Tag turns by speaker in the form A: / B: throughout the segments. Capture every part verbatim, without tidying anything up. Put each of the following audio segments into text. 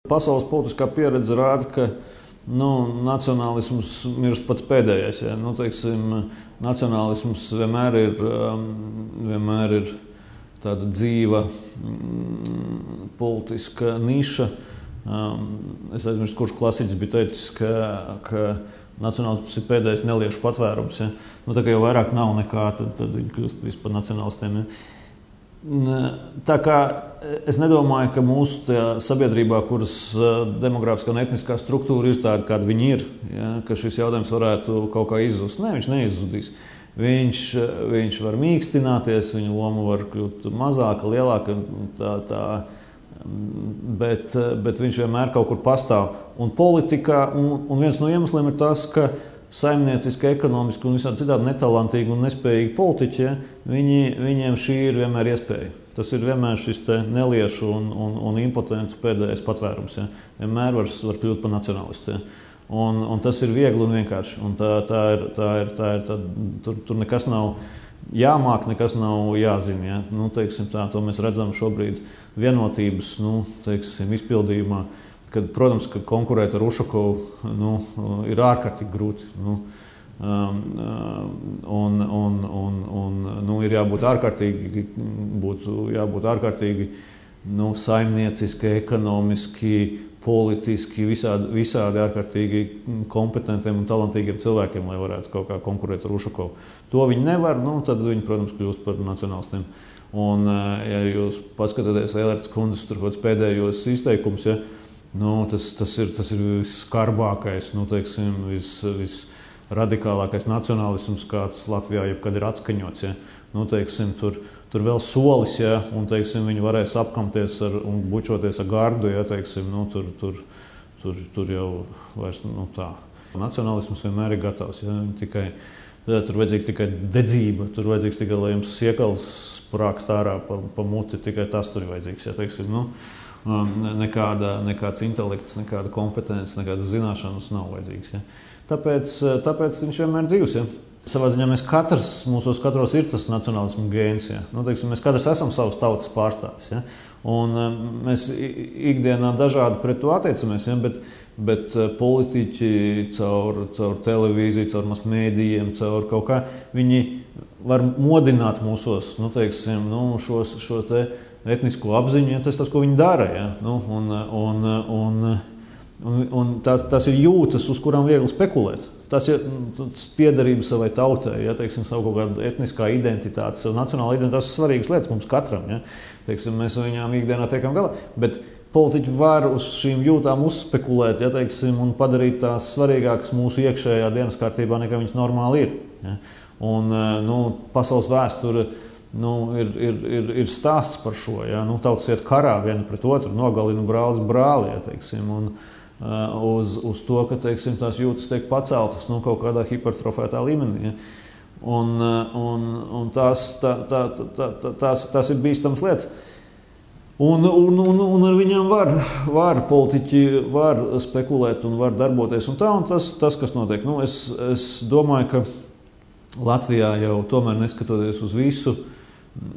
A: Pasaules politiskā pieredze rāda, ka nu, nacionālisms mirst pats pēdējais. Ja. Nu, teiksim, nacionālisms vienmēr ir, vienmēr ir tāda dzīva mm, politiska niša. Es aizmirstu, kurš klasiķis bija teicis, ka, ka nacionālisms ir pēdējais neliešu patvērums. Ja. Nu, tā kā jau vairāk nav nekā, tad, tad viņi kļūst vispār nacionālistiem. Ja. Tā kā es nedomāju, ka mūsu sabiedrībā, kuras demogrāfiskā un etniskā struktūra ir tāda, kāda viņi ir, ja, ka šis jautājums varētu kaut kā izzust. Nē, viņš neizzudīs. Viņš, viņš var mīkstināties, viņa loma var kļūt mazāka, lielāka, tā, tā, bet, bet viņš vienmēr kaut kur pastāv. Un politikā, un, un viens no iemesliem ir tas, ka saimnieciski, ekonomiski un visādi citādi netalantīgi un nespējīgi politiķi, ja, viņi, viņiem šī ir vienmēr iespēja. Tas ir vienmēr šis neliešu un, un, un impotentu pēdējais patvērums. Ja. Vienmēr var, var kļūt par nacionālistu. Ja. Un, un tas ir viegli un vienkārši. Un tā, tā ir, tā ir, tā ir, tā, tur, tur nekas nav jāmāk, nekas nav jāzina. Ja. Nu, teiksim, tā, to mēs redzam šobrīd vienotības nu, teiksim, izpildījumā. Kad, protams, ka konkurēt ar Ušakovu nu, ir ārkārtīgi grūti. Nu, um, un, un, un, un, nu, ir jābūt ārkārtīgi, būtu jābūt ārkārtīgi nu, saimnieciski, ekonomiski, politiski, visādi, visādi ārkārtīgi kompetentiem un talantīgiem cilvēkiem, lai varētu kaut kā konkurēt ar Ušakovu. To viņi nevar, nu, tad viņi, protams, kļūst par nacionālistiem. Un, ja jūs paskatāties Eilerts kundzes pēdējos izteikumus, ja, Nu, tas, tas ir, tas ir visskarbākais, nu, teiksim, vis, visradikālākais nacionālisms, kāds Latvijā jebkad ir atskaņots. Ja. Nu, teiksim, tur, tur vēl solis, ja, un teiksim, viņi varēs apkamties ar, un bučoties ar gardu. Ja, teiksim, nu, tur, tur, tur, tur jau vairs nu, tā. Nacionālisms vienmēr ir gatavs. Ja, tikai, tur vajadzīga tikai dedzība, tur vajadzīgs tikai, lai jums siekals sprākst ārā pa, pa muti, tikai tas tur ir vajadzīgs. Ja, teiksim, nu, Nekāda, nekāds intelekts, nekāda kompetence, nekādas zināšanas nav vajadzīgas. Ja. Tāpēc, tāpēc viņš vienmēr dzīvs. Ja. Savā ziņā mēs katrs, mūsos katros ir tas nacionālisma gēns. Ja. Nu, teiksim, mēs katrs esam savas tautas pārstāvis. Ja. Un mēs ikdienā dažādi pret to attiecamies, ja, bet, bet politiķi caur, caur televīziju, caur masmēdījiem, caur kaut kā, viņi var modināt mūsos, nu, teiksim, nu, šos, šo te etnisko apziņu, ja, tas tas, ko viņi dara. Ja? Nu, un, un, un, un, un tās, tās ir jūtas, uz kurām viegli spekulēt. Tas ir piederība savai tautai, ja, teiksim, savu kaut kādu etniskā identitāti, savu nacionālu identitāti. Tas ir svarīgas lietas mums katram. Ja? Teiksim, mēs viņām ikdienā tiekam galā. Bet politiķi var uz šīm jūtām uzspekulēt, ja, teiksim, un padarīt tās svarīgākas mūsu iekšējā dienas kārtībā, nekā viņas normāli ir. Ja? Un, nu, pasaules vēsture Nu, ir, ir, ir, ir stāsts par šo. Ja? Nu, tautas iet karā viena pret otru, nogalina brālis brāli. Ja, teiksim, un, uh, uz, uz to, ka teiksim, tās jūtas tiek paceltas nu, kaut kādā hipertrofētā līmenī. Ja? Un, uh, un, un tās, tā, tā, tā, tā, tās, tās ir bīstamas lietas. Un, un, un, un ar viņām var, var politiķi var spekulēt un var darboties. Un tā, un tas, tas, kas notiek. Nu, es, es domāju, ka Latvijā jau tomēr neskatoties uz visu,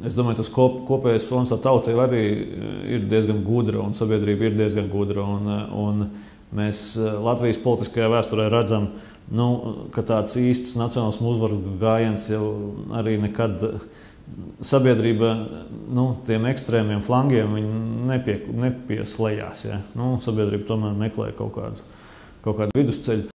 A: es domāju, tas kop, kopējais fons tā tautai arī ir diezgan gudra un sabiedrība ir diezgan gudra. Un, un mēs Latvijas politiskajā vēsturē redzam, nu, ka tāds īsts nacionālismu uzvaru gājiens jau arī nekad sabiedrība nu, tiem ekstrēmiem flangiem nepie, nepieslējās. Ja. Nu, sabiedrība tomēr meklē kaut kādu, kaut kādu vidusceļu.